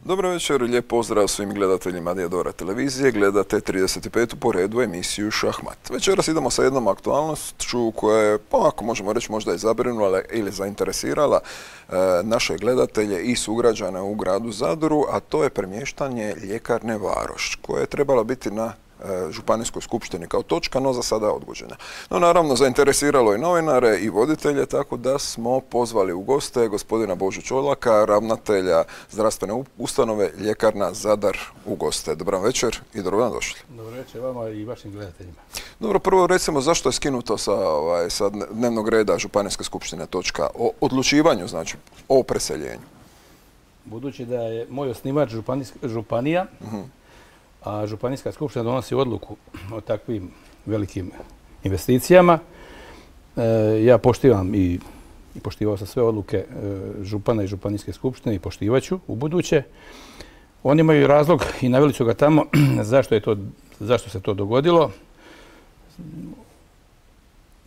Dobro večer, lijep pozdrav svim gledateljima Dijadora televizije. Gledate 35. po redu emisiju Šahmat. Večeras idemo sa jednom aktualnošću koja je, pomako možemo reći, možda i zabrinula ili zainteresirala naše gledatelje i sugrađane u gradu Zadru, a to je premještanje ljekarne Varoš, koja je trebala biti na Županijskoj skupštini kao točka, no za sada je odgođena. No naravno zainteresiralo i novinare i voditelje, tako da smo pozvali u goste gospodina Božu Čolaka, ravnatelja zdravstvene ustanove Ljekarna Zadar u goste. Dobar večer i dobro nam došli. Dobro večer vama i vašim gledateljima. Dobro, prvo recimo zašto je skinuto sa dnevnog reda Županijske skupštine točka o odlučivanju, znači o preseljenju? Budući da je moj osnivač županija, a Županijska skupština donosi odluku o takvim velikim investicijama. Ja poštivam i poštivao sam sve odluke župana i Županijske skupštine i poštivaću u buduće. Oni imaju razlog i naveli su ga tamo zašto se to dogodilo.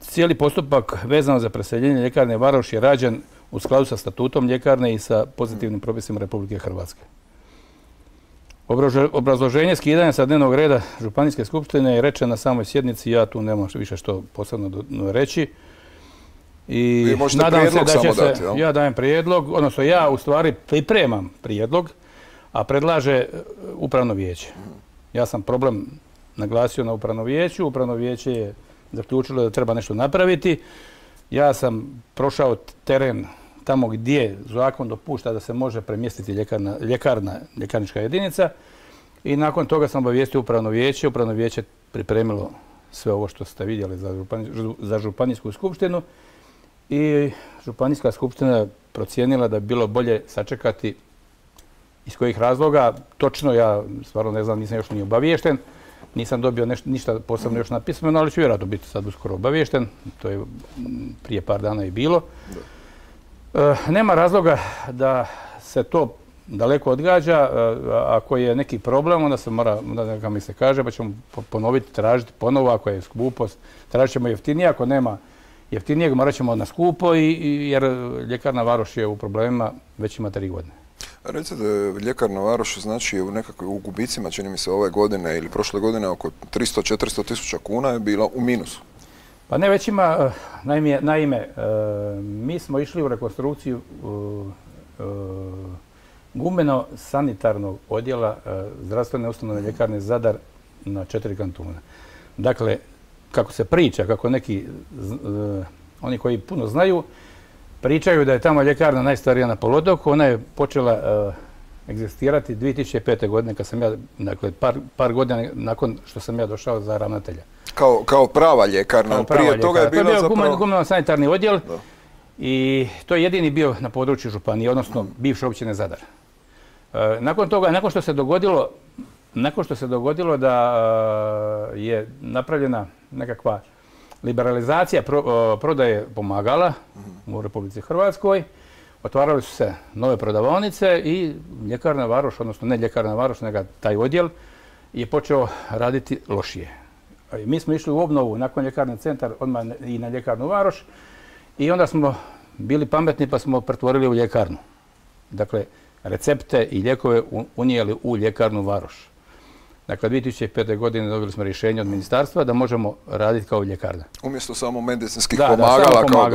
Cijeli postupak vezano za preseljenje ljekarne Varoš je rađen u skladu sa statutom ljekarne i sa pozitivnim propisima Republike Hrvatske. Obrazloženje skidanja sa dnevnog reda Županijske skupštine je rečeno na samoj sjednici, ja tu nemam više što posebno reći. I nadam se da će se, ja dajem prijedlog, odnosno ja u stvari pripremam prijedlog, a predlaže upravno vijeće. Ja sam problem naglasio na upravno vijeću, upravno vijeće je zaključilo da treba nešto napraviti. Ja sam prošao teren tamo gdje zakon dopušta da se može premjestiti ljekarnička jedinica i nakon toga sam obavijestio upravno vijeće. Upravno vijeće pripremilo sve ovo što ste vidjeli za Županijsku skupštinu i Županijska skupština je procijenila da bi bilo bolje sačekati iz kojih razloga. Točno, ja stvarno ne znam, nisam još ni obaviješten, nisam dobio ništa posebno još napisano, ali ću vjerojatno biti sad uskoro obaviješten, to je prije par dana i bilo. Nema razloga da se to daleko odgađa. Ako je neki problem, onda se mora, neka mi se kaže, pa ćemo ponoviti, tražiti ponovo. Ako je skupo, tražit ćemo jeftinije. Ako nema jeftinijeg, morat ćemo na skupo, jer ljekarna Varoš je u problemima već ima 3 godine. Recite, ljekarna Varoš znači u gubicima, čini mi se ove godine ili prošle godine, oko 300-400 tisuća kuna je bila u minusu. Pa ne, već ima, naime, mi smo išli u rekonstrukciju gumeno-sanitarnog odjela zdravstvene ustanove ljekarne Zadar na 4 kantuna. Dakle, kako se priča, kako neki, oni koji puno znaju, pričaju da je tamo ljekarna najstarija na poluotoku. Ona je počela egzistirati 2005. godine, kad sam ja, dakle, par godina nakon što sam ja došao za ravnatelja. Kao prava ljekarna, prije toga je bila zapravo... To je bio gumeno-sanitarni odjel i to je jedini bio na području županije, odnosno bivše općine Zadar. Nakon toga, nakon što se dogodilo da je napravljena nekakva liberalizacija prodaje pomagala u Republici Hrvatskoj, otvarali su se nove prodavaonice i ljekarna Varoš, odnosno ne ljekarna Varoš, nego taj odjel je počeo raditi lošije. Mi smo išli u obnovu nakon ljekarni centar odmah i na ljekarnu Varoš i onda smo bili pametni pa smo pretvorili u ljekarnu. Dakle, recepte i lijekove unijeli u ljekarnu Varoš. Dakle, 2005. godine dobili smo rješenje od ministarstva da možemo raditi kao ljekarna. Umjesto samo medicinskih pomagala kao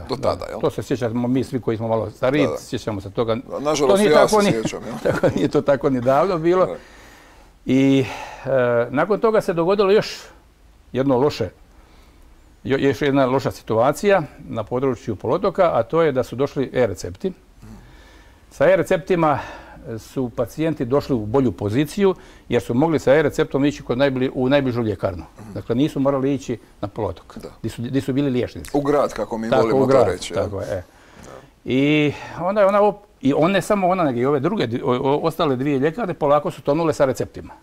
do tada, jel? To se sjećamo mi svi koji smo malo stariji, sjećamo se toga. Nažalost, ja se sjećam, jel? Nije to tako ni davno bilo. I nakon toga se dogodilo još jedna loša situacija na području poluotoka, a to je da su došli e-recepti. Sa e-receptima su pacijenti došli u bolju poziciju jer su mogli sa e-receptom ići u najbližu ljekarnu. Dakle, nisu morali ići na poluotok, gdje su bili liječnici. U grad, kako mi volimo to reći. Tako je. I onda je ne samo ona, nego i ove druge, ostale 2 ljekarne polako su tonule sa receptima.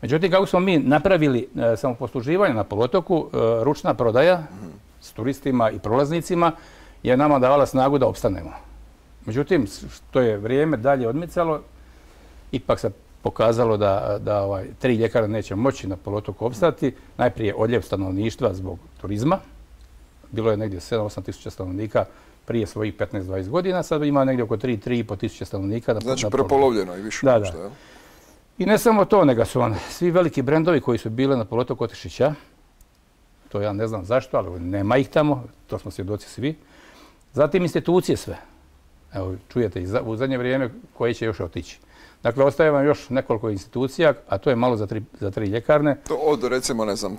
Međutim, kako smo mi napravili samoposluživanje na poluotoku, ručna prodaja s turistima i prolaznicima je nama davala snagu da opstanemo. Međutim, što je vrijeme dalje odmicalo, ipak se pokazalo da 3 ljekarne neće moći na poluotoku opstati. Najprije odljev stanovništva zbog turizma. Bilo je negdje 7-8 tisuća stanovnika prije svojih 15-20 godina, sad ima negdje oko 3-3,5 tisuće stanovnika. Znači prepolovljeno i više. Da. I ne samo to, nego su svi veliki brendovi koji su bile na poluotoku otišli ća. To ja ne znam zašto, ali nema ih tamo, to smo svjedoci svi. Zatim institucije sve. Evo, čujete u zadnje vrijeme koje će još otići. Dakle, ostaje vam još nekoliko institucija, a to je malo za 3 ljekarne. To od, recimo, ne znam,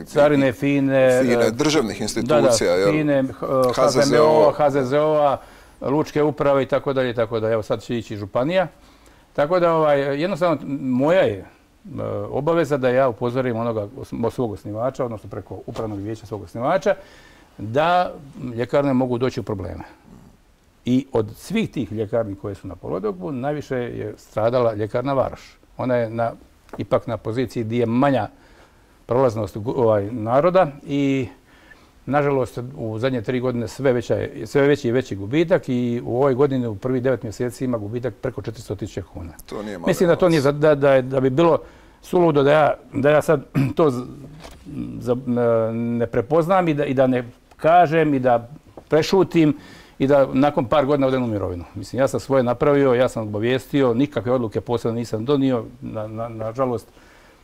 carine, FINE, državnih institucija, FINE, HZZO-a, lučke uprave i tako dalje. Evo, sad će ići županija. Tako da, jednostavno, moja je obaveza da ja upozorim onoga svog osnivača, odnosno preko upravnog vijeća svog osnivača, da ljekarne mogu doći u probleme. I od svih tih ljekarni koje su na poluotoku, najviše je stradala ljekarna Varoš. Ona je ipak na poziciji gdje je manja prolaznost naroda i, nažalost, u zadnje 3 godine sve veći i veći gubitak i u ovoj godini u prvih 9 mjeseci ima gubitak preko 400.000 kuna. Mislim da to nije, da bi bilo suludo da ja sad to ne prepoznam i da ne kažem i da prešutim i da nakon par godina odem u mirovinu. Mislim, ja sam svoje napravio, ja sam obavijestio, nikakve odluke posebno nisam donio, nažalost,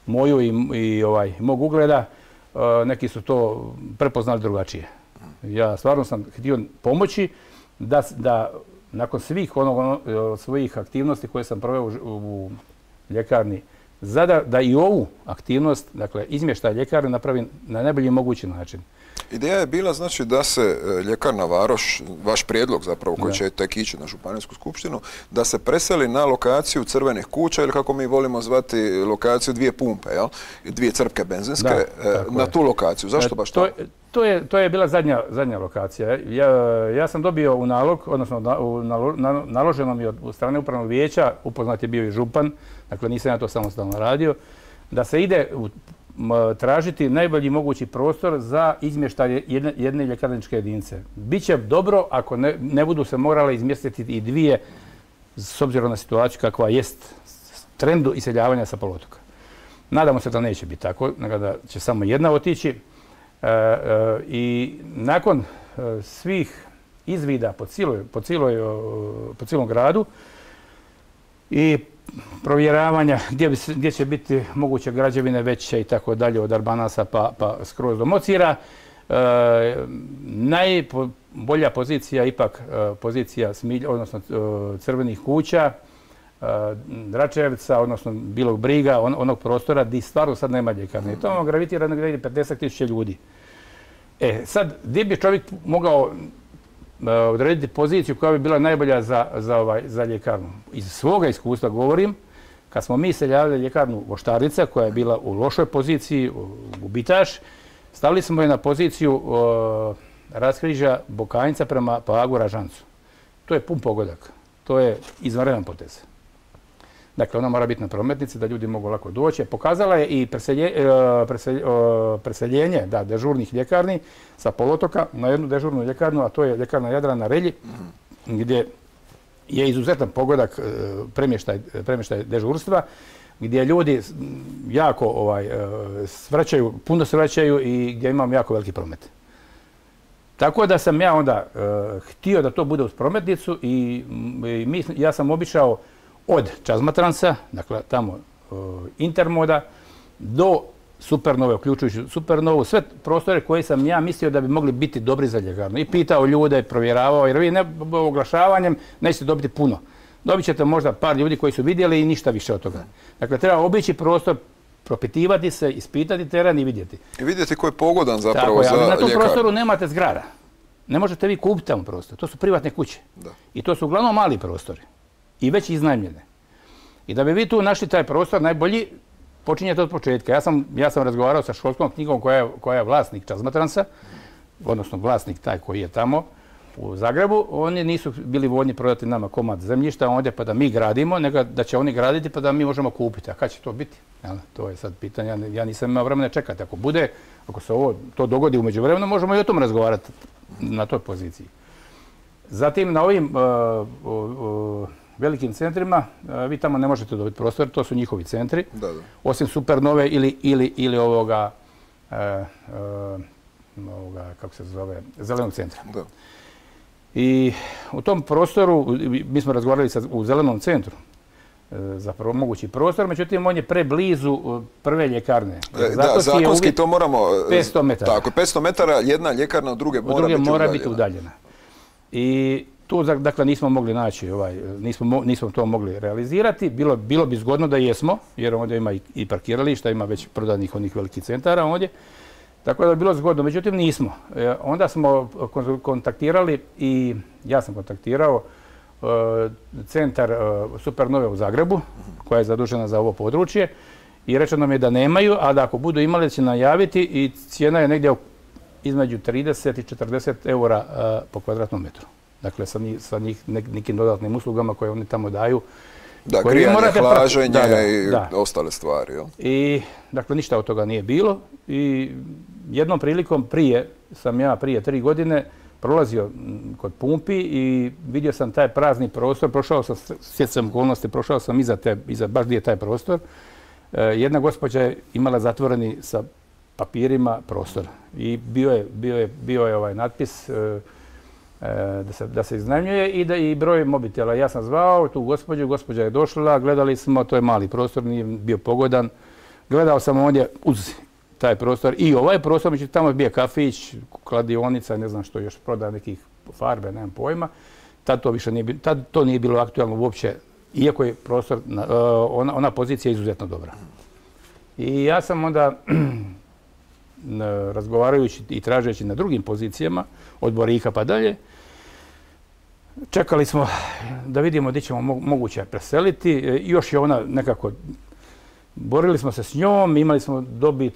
moju i mog ugleda. Neki su to prepoznali drugačije. Ja stvarno sam htio pomoći da nakon svih svojih aktivnosti koje sam proveo u ljekarni Zadar, da i ovu aktivnost, dakle izmještaj ljekarne, napravim na najbolji mogući način. Ideja je bila znači da se ljekarna Varoš, vaš prijedlog zapravo koji će tek ići na županijsku skupštinu, da se preseli na lokaciju crvenih kuća ili kako mi volimo zvati lokaciju 2 pumpe, jel? 2 crpke benzinske, na tu lokaciju. Zašto baš to? To je bila zadnja lokacija. Ja sam dobio u nalog, odnosno naloženo mi od strane upravnog vijeća, upoznat je bio i župan, dakle nisam ja to samostalno radio, da se ide tražiti najbolji mogući prostor za izmještaj jedne ljekarničke jedinice. Biće dobro ako ne budu se morale izmjestiti i 2, s obzirom na situaciju kakva jest trendu iseljavanja sa poluotoka. Nadamo se da neće biti tako, nego da će samo jedna otići. I nakon svih izvida po cijelom gradu i provjeravanja gdje će biti moguće građevine veće i tako dalje, od Arbanasa pa skroz do Mocira, najbolja pozicija ipak pozicija odnosno crvenih kuća, Dračevca, odnosno Bilog Briga, onog prostora gdje stvarno sad nema ljekarne. I to gravitira negdje 50.000 ljudi. Sad, gdje bi čovjek mogao odrediti poziciju koja bi bila najbolja za ljekarnu? Iz svoga iskustva govorim, kad smo mi seljavali ljekarnu Voštarica, koja je bila u lošoj poziciji, gubitaš, stavili smo je na poziciju raskrižja Bokanjca prema Pagu Ražancu. To je pun pogodak. To je izvanredan potez. Dakle, ona mora biti na prometnici da ljudi mogu lako doći. Pokazala je i preseljenje dežurnih ljekarni sa poluotoka na jednu dežurnu ljekarnu, a to je ljekarna Jadran na Relji, gdje je izuzetan pogodak premještaj dežurstva, gdje ljudi jako puno se vraćaju i gdje imam jako veliki promet. Tako da sam ja onda htio da to bude uz prometnicu i ja sam obišao od Čazmatransa, dakle tamo Intermoda, do Supernove, uključujući Supernovu, sve prostore koje sam ja mislio da bi mogli biti dobri za ljekarnu. I pitao ljude, provjeravao, jer vi oglašavanjem nećete dobiti puno. Dobit ćete možda par ljudi koji su vidjeli i ništa više od toga. Dakle, treba obići prostor, propitivati se, ispitati teren i vidjeti. I vidjeti koji je pogodan zapravo za ljekarnu. Na tom prostoru nemate zgrada. Ne možete vi kupiti tamo prostor. To su privatne kuće. I to su uglavnom mali prostori. I već iznajmljene. I da bi vi tu našli taj prostor, najbolji počinjete od početka. Ja sam razgovarao sa školskom knjigom koja je vlasnik Čazmatransa, odnosno vlasnik taj koji je tamo, u Zagrebu, oni nisu bili voljni prodati nama komad zemljišta ondje pa da mi gradimo, nego da će oni graditi pa da mi možemo kupiti. A kad će to biti? To je sad pitanje. Ja nisam imao vremena čekati. Ako se to dogodi u međuvremenu, možemo i o tom razgovarati na toj poziciji. Zatim na ovim velikim centrima, vi tamo ne možete dobiti prostor, to su njihovi centri, osim Supernove ili ovoga, kako se zove, Zelenog centra. I u tom prostoru, mi smo razgovarali u Zelenom centru za mogući prostor, međutim on je preblizu prve ljekarne. Da, zakonski to moramo... 500 metara. Tako, 500 metara, jedna ljekarna od druge mora biti udaljena. I tu, dakle, nismo mogli naći, nismo to mogli realizirati. Bilo bi zgodno da jesmo, jer ovdje ima i parkirališta, ima već prodanih onih velikih centara ovdje. Tako da je bilo zgodno, međutim nismo. Onda smo kontaktirali i ja sam kontaktirao centar Supernove u Zagrebu, koja je zadužena za ovo područje, i rečeno nam je da nemaju, a da ako budu imali će najaviti i cijena je negdje između 30 i 40 eura po kvadratnom metru. Dakle, sa nekim dodatnim uslugama koje oni tamo daju. Da, grijanje, hlaženje i ostale stvari. I, dakle, ništa od toga nije bilo. I jednom prilikom prije 3 godine, prolazio kod pumpi i vidio sam taj prazni prostor, stjecajem okolnosti, prošao sam baš gdje je taj prostor. Jedna gospođa je imala zatvoreni sa papirima prostor i bio je ovaj natpis da se iznajmljuje i broj mobitela. Ja sam zvao tu gospođa je došla, gledali smo, to je mali prostor, nije bio pogodan. Gledao sam ovdje uz taj prostor i ovaj prostor, međutim tamo je bio kafić, kladionica, ne znam što još proda, nekih farbe, nemam pojma. Tad to više nije bilo, tad to nije bilo aktualno uopće, iako je prostor, ona pozicija izuzetno dobra. I ja sam onda, razgovarajući i tražeći na drugim pozicijama, od Borika pa dalje, čekali smo da vidimo gdje ćemo moguće preseliti. Još je ona nekako, borili smo se s njom, imali smo dobit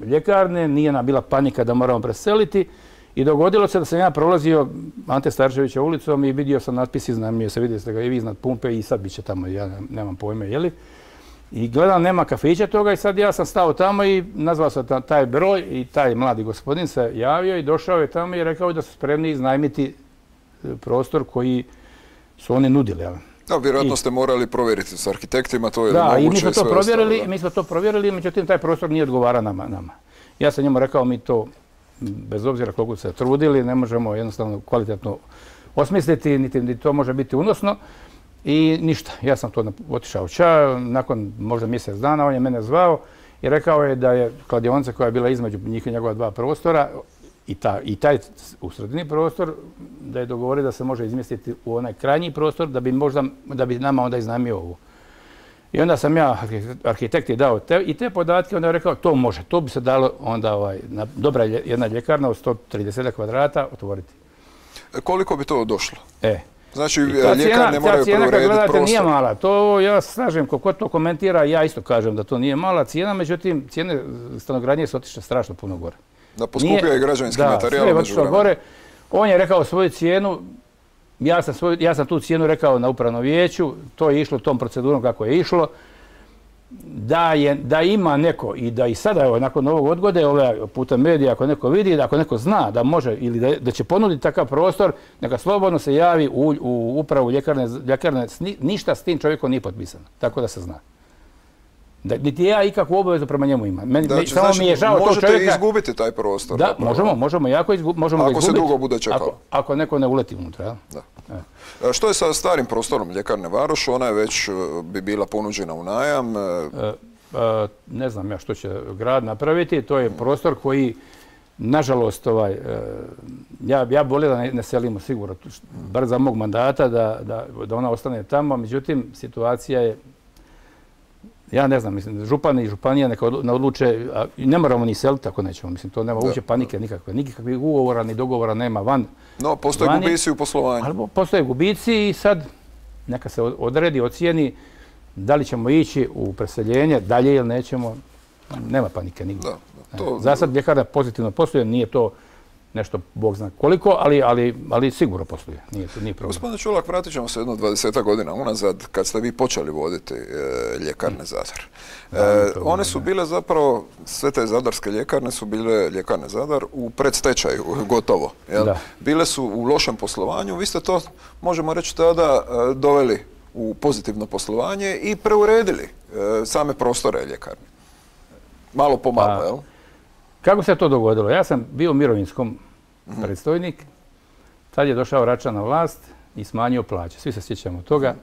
ljekarne, nije nam bila panika da moramo preseliti i dogodilo se da sam ja prolazio Ante Starčevića ulicom i vidio sam natpis iznajmljuje se, vidjeli ste ga i vi iznad pumpe i sad bit će tamo, ja nemam pojma, jeli. I gledam, nema kafića toga i sad ja sam stao tamo i nazvao sam taj broj i taj mladi gospodin se javio i došao je tamo i rekao da su spremni iznajmiti prostor koji su oni nudili. Da, vjerojatno ste morali provjeriti s arhitektima, to je moguće. Da, i mi smo to provjerili, međutim taj prostor nije odgovara nama. Ja sam njemu rekao, mi to, bez obzira koliko se trudili, ne možemo jednostavno kvalitetno osmisliti, niti to može biti unosno. I ništa, ja sam to otišao nakon možda mjesec dana, on je mene zvao i rekao je da je kladionica koja je bila između njih i njegova dva prostora i taj u sredini prostor, da je dogovorio da se može izmjestiti u onaj krajnji prostor, da bi nama onda iznajmio ovu. I onda sam ja arhitekti dao i te podatke, onda je rekao to može, to bi se dalo onda dobra jedna ljekarna od 130 kvadrata otvoriti. Koliko bi to došlo? Znači, ljekarne moraju preurediti prostor. Nije mala. To ja slažem, ko to komentira, ja isto kažem da to nije mala cijena, međutim, cijene stanogradnje su otišle strašno puno gore. Da poskupio je građevinski materijal. Da, sve je otišlo gore. On je rekao svoju cijenu, ja sam tu cijenu rekao na upravnom vijeću, to je išlo tom procedurom kako je išlo. Da ima neko i da i sada, nakon ovog odgode, putem medija, ako neko vidi, ako neko zna da može ili da će ponuditi takav prostor, neka slobodno se javi u upravu ljekarne. Ništa s tim čovjekom nije potpisano, tako da se zna. Niti ja ikakvu obavezu prema njemu imam. Samo mi je žao tog čovjeka. Možete izgubiti taj prostor. Da, možemo jako izgubiti. Ako se dugo bude čekalo. Ako neko ne uleti unutra. Što je sa starim prostorom ljekarne Varoš? Ona je već bi bila ponuđena u najam. Ne znam ja što će grad napraviti. To je prostor koji, nažalost, ja bolje da ne selimo sigurno, bar za mog mandata, da ona ostane tamo. Međutim, situacija je, ja ne znam, mislim, župan i županija neka odluče, ne moramo ni seliti ako nećemo, mislim, to nema uopće panike nikakve. Nikakvih ugovora ni dogovora nema van. No, postoje gubici u poslovanju. Ali postoje gubici i sad neka se odredi, ocijeni da li ćemo ići u preseljenje, dalje ili nećemo. Nema panike nigdje. Za sad ljekarna pozitivno posluje, nije to nešto, Bog zna koliko, ali sigurno postoji, nije problem. Gospodine Čolak, vratit ćemo se jedno 20 godina unazad, kad ste vi počeli voditi ljekarne Zadar. One su bile zapravo, sve te zadarske ljekarne su bile ljekarne Zadar u predstečaju, gotovo. Bile su u lošem poslovanju, vi ste to, možemo reći tada, doveli u pozitivno poslovanje i preuredili same prostore ljekarne. Malo po malo, jel? Kako se to dogodilo? Ja sam bio mirovinskom predstojnik, tad je došao Račan na vlast i smanjio plaće. Svi se sjećamo toga.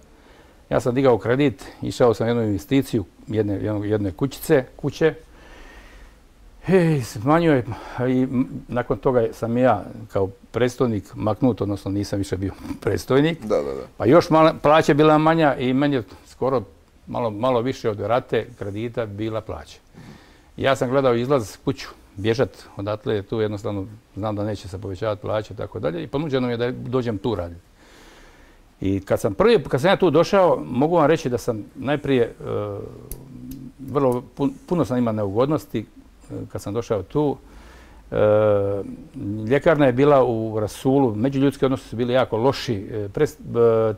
Ja sam digao kredit, išao sam jednu investiciju jedne kuće. Smanjio je i nakon toga sam ja kao predstojnik maknut, odnosno nisam više bio predstojnik. Pa još plaća bila manja i meni je skoro malo više od rate kredita bila plaća. Ja sam gledao izlaz kuću, bježat odatle, tu jednostavno znam da neće se povećavati plaće i tako dalje i ponuđeno mi je da dođem tu raditi. I kad sam ja tu došao, mogu vam reći da sam najprije puno sam imao neugodnosti kad sam došao tu. Ljekarna je bila u rasulu, međuljudski odnosi su bili jako loši,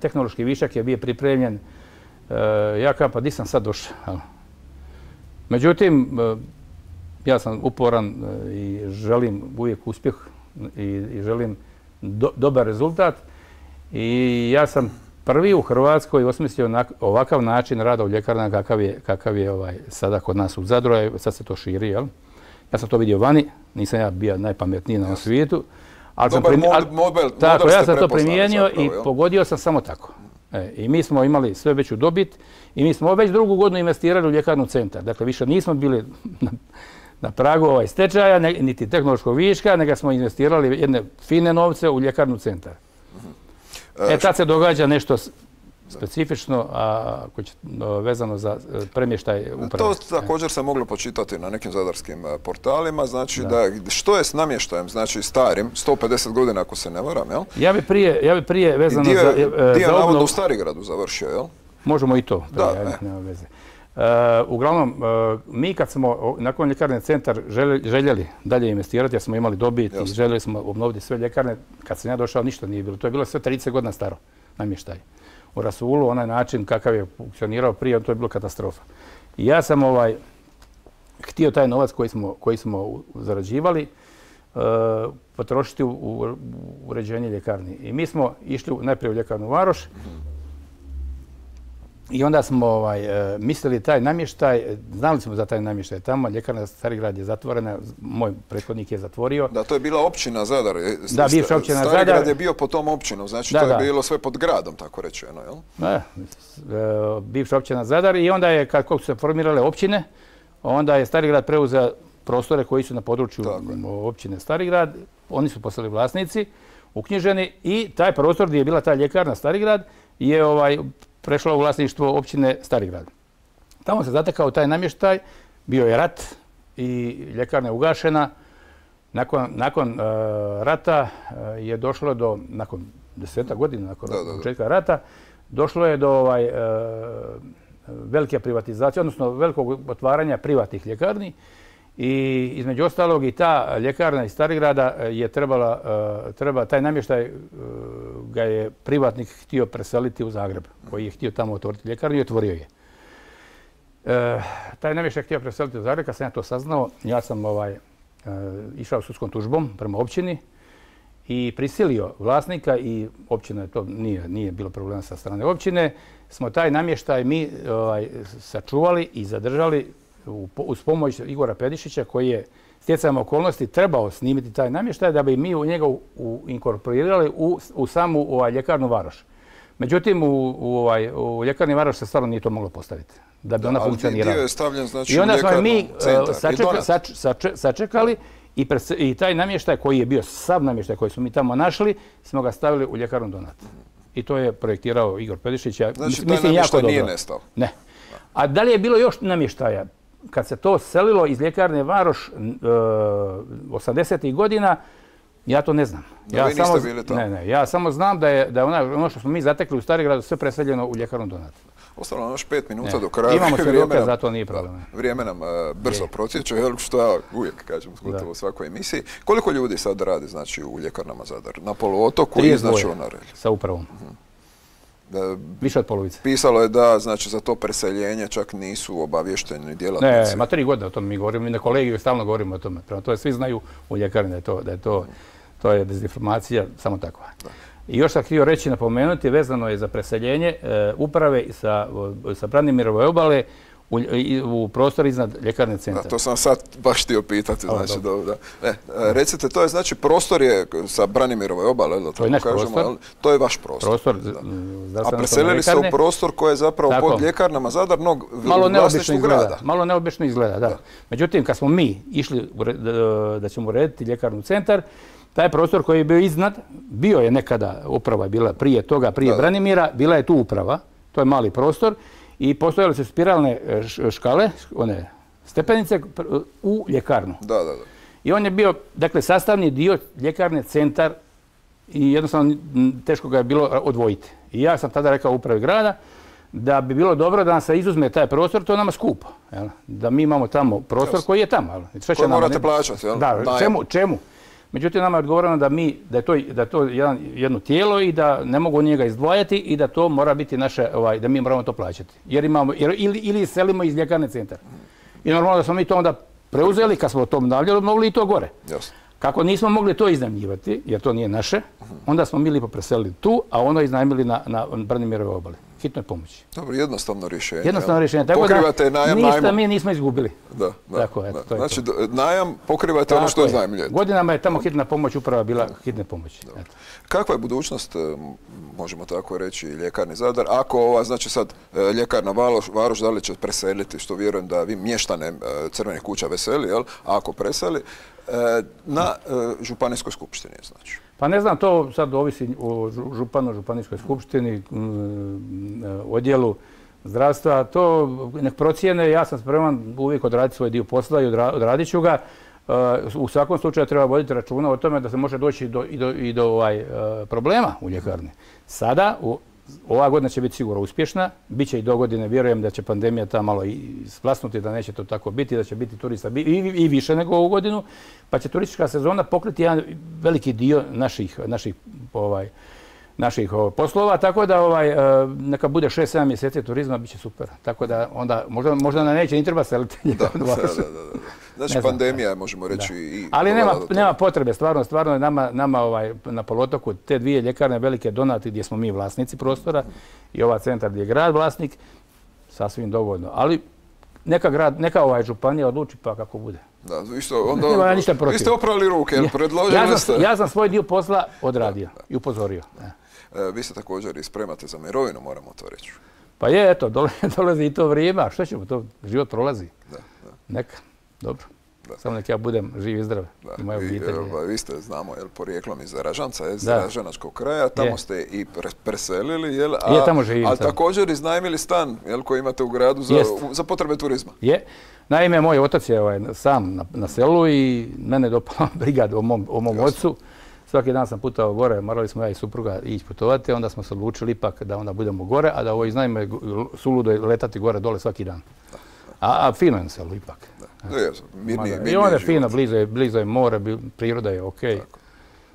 tehnološki višak je bio pripremljen. Ja kažem, pa di sam sad došao? Međutim, ja sam uporan i želim uvijek uspjeh i želim dobar rezultat. I ja sam prvi u Hrvatskoj osmislio ovakav način rada u ljekarnama kakav je sada kod nas u Zadru, sad se to širi, jel? Ja sam to vidio vani, nisam ja bio najpametniji na svijetu. Ja sam to primijenio i pogodio sam samo tako. I mi smo imali sve veću dobit i mi smo već drugu godinu investirali u ljekarnu Centar. Dakle, više nismo bili na pragu stečaja, niti tehnološkog viška, nego smo investirali jedne fine novce u ljekarnu Centar. Tad se događa nešto specifično, vezano za premještaj uprave. To također se moglo počitati na nekim zadarskim portalima. Znači, što je s namještajem, znači starim, 150 godina ako se ne varam, jel? Ja bi prije vezano za obnovu... Dio navodno u Starigradu završio, jel? Možemo i to. Nema veze. Uglavnom, mi kad smo nakon ljekarne Centar željeli dalje investirati, jer smo imali dobit i željeli smo obnoviti sve ljekarne, kad sam ja došao ništa nije bilo. To je bilo sve 30 godina staro namještaj. U rasulu, onaj način kakav je funkcionirao prije, to je bilo katastrofa. I ja sam htio taj novac koji smo zarađivali potrošiti u uređenje ljekarni. I mi smo išli najprije u ljekarnu Varoš i onda smo mislili taj namještaj, znali smo za taj namještaj tamo, ljekarna Starigrad je zatvorena, moj prethodnik je zatvorio. Da, to je bila općina Zadar. Da, bivša općina Zadar. Starigrad je bio pod tom općinom, znači to je bilo sve pod gradom, tako rečeno, jel? Da, bivša općina Zadar i onda je, kako su se formirale općine, onda je Starigrad preuzeo prostore koji su na području općine Starigrad, oni su postali vlasnici, uknjiženi i taj prostor gdje je bila ta ljekarna Starigrad je prešla u vlasništvo općine Starigrad. Tamo se zatekao taj namještaj, bio je rat i ljekarna je ugašena. Nakon rata je došlo do, nakon 10 godina, nakon početka rata, došlo je do velike privatizacije, odnosno velikog otvaranja privatnih ljekarni. I između ostalog i ta ljekarna iz Starigrada je taj namještaj ga je privatnik htio preseliti u Zagreb, koji je htio tamo otvoriti ljekarnu i otvorio je. Taj namještaj je htio preseliti u Zagreb, kad sam ja to saznao, ja sam išao sudskom tužbom prema općini i prisilio vlasnika i općina, to nije bilo problema sa strane općine, smo taj namještaj mi sačuvali i zadržali uz pomoć Igora Pedišića koji je stjecajem okolnosti trebao snimiti taj namještaj da bi mi u njega inkorporirali u samu ljekarnu Varoš. Međutim, u ljekarni Varoš se stvarno nije to moglo postaviti da bi ona funkcionirala. Dio je stavljen, znači, i onda smo mi sačekali i taj namještaj koji je bio sav namještaj koji smo mi tamo našli smo ga stavili u ljekarnu Donat. I to je projektirao Igor Pedišić. Znači, taj namještaj nije nestao? Ne. A da li je bilo još namještaja? Kad se to selilo iz ljekarne Varoš 80. godina, ja to ne znam. Vi niste bili tamo? Ne, ja samo znam da je ono što smo mi zatekli u Starigradu sve preseljeno u ljekarnu Donat. Ostalo nam još 5 minuta do kraja. Imamo svjedoka, zato nije problem. Vrijeme nam brzo protječe, što ja uvijek kažem gotovo u svakoj emisiji. Koliko ljudi sad radi znači, u ljekarnama Zadar? Na poluotoku i znači u Norelji? Sa upravom. Više od polovice. Pisalo je da znači, za to preseljenje čak nisu obavješteni djelatnici. Ne, ma 3 godine o tome mi govorimo, mi na kolegiju stalno govorimo o tome. Prema to svi znaju u ljekarni da je to je dezinformacija, samo takva. I još sam htio reći, napomenuti, vezano je za preseljenje uprave sa Branimirove obale u prostor iznad ljekarne centra. To sam sad baš htio pitati. Znači, recite, to je znači prostor je sa Branimirove obale, to je naš prostor. To je vaš prostor. A preselili se u prostor koji je zapravo pod ljekarnama Zadar, vlasništvu grada. Malo neobično izgleda, da. Međutim, kad smo mi išli da ćemo urediti ljekarnu centar, taj prostor koji je bio iznad, bio je nekada, uprava je bila prije toga, prije Branimira, bila je tu uprava, to je mali prostor, i postojale su spiralne škale, one stepenice, u ljekarnu. I on je bio, dakle, sastavni dio ljekarne centar i jednostavno teško ga je bilo odvojiti. I ja sam tada rekao upravi grada da bi bilo dobro da nam se izuzme taj prostor, to je nama skupo. Da mi imamo tamo prostor koji je tamo. Koji morate plaćati, jel? Da, čemu? Međutim, nama je odgovoreno da je to jedno tijelo i da ne mogu njega izdvajati i da to mora biti naše, da mi moramo to plaćati. Ili selimo iz ljekarne centar. I normalno da smo mi to onda preuzeli, kad smo to obnavljali, mogli i to gore. Kako nismo mogli to iznajmljivati, jer to nije naše, onda smo mi lipo preselili tu, a ono iznajmili na Branimirove obali. Hitnoj pomoći. Dobro, jednostavno rješenje. Jednostavno rješenje. Tako da ništa mi nismo izgubili. Znači, najam pokrivate ono što iznajmljujete. Godinama je tamo hitna pomoć uprava bila hitne pomoći. Kakva je budućnost, možemo tako reći, ljekarni Zadar? Ako ova, znači sad, ljekarna Varoš, da li će preseliti, što vjerujem da vi mještane Crvenih kuća veseli, jel? A ako preseli, na županijskoj skupštini, znači. Pa ne znam, to sad ovisi o županu, županijskoj skupštini, odjelu zdravstva. To nek procijene, ja sam spreman uvijek odraditi svoj dio posla i odradit ću ga. U svakom slučaju treba voditi računa o tome da se može doći i do problema u ljekarni. Sada, ova godina će biti sigurno uspješna, bit će i do godine, vjerujem da će pandemija ta malo splasnuti, da neće to tako biti, da će biti turista i više nego ovu godinu, pa će turistička sezona pokriti jedan veliki dio naših poslova, tako da neka bude 6-7 mjeseci turizma, bit će super. Tako da onda možda nam neće ni treba seliti. Znači pandemija, možemo reći i... Ali nema potrebe, stvarno je nama na poluotoku te dvije ljekarne velike donati gdje smo mi vlasnici prostora i ova centar gdje je grad vlasnik, sasvim dovoljno. Ali neka županija odluči pa kako bude. Da, vi ste oprali ruke, predložili ste... Ja sam svoj dio posla odradio i upozorio. Vi se također i spremate za mirovinu, moramo to reći. Pa je, eto, dolazi i to vrijeme, a što ćemo, to život prolazi. Neka, dobro. Samo nek ja budem živ i zdrav. Vi ste, znamo, porijeklom iz Ražanca, iz Ražanačkog kraja, tamo ste i preselili, ali također iznajmili stan koji imate u gradu za potrebe turizma. Je. Naime, moj otac je sam na selu i mene dopala briga o mom ocu. Svaki dan sam putao gore, morali smo ja i supruga ići putovati, onda smo se odlučili ipak da onda budemo gore, a da ovo iznajme suludo je letati gore dole svaki dan. A fino je na selu ipak. I onda je fino, blizu je more, priroda je okej.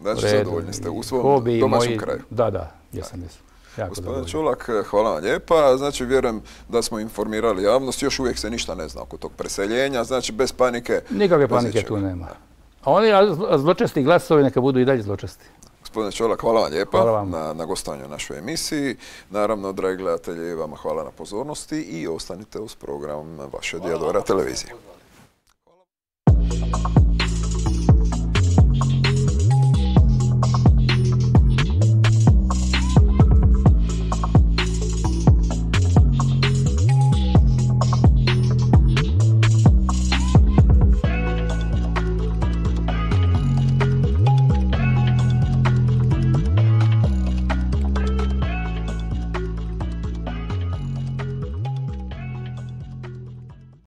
Znači, zadovoljni ste u svom domaćem kraju. Da, jesam. Gospodine Čolak, hvala vam lijepa. Znači, vjerujem da smo informirali javnost. Još uvijek se ništa ne zna oko tog preseljenja. Znači, bez panike... Nikakve panike tu nema. A oni zločesti glasovi neka budu i dalje zločesti. Gospodine Čolak, hvala vam lijepa na gostovanju u našoj emisiji. Naravno, dragi gledatelji, vama hvala na pozornosti i ostanite uz program vaše Dijadora televizije.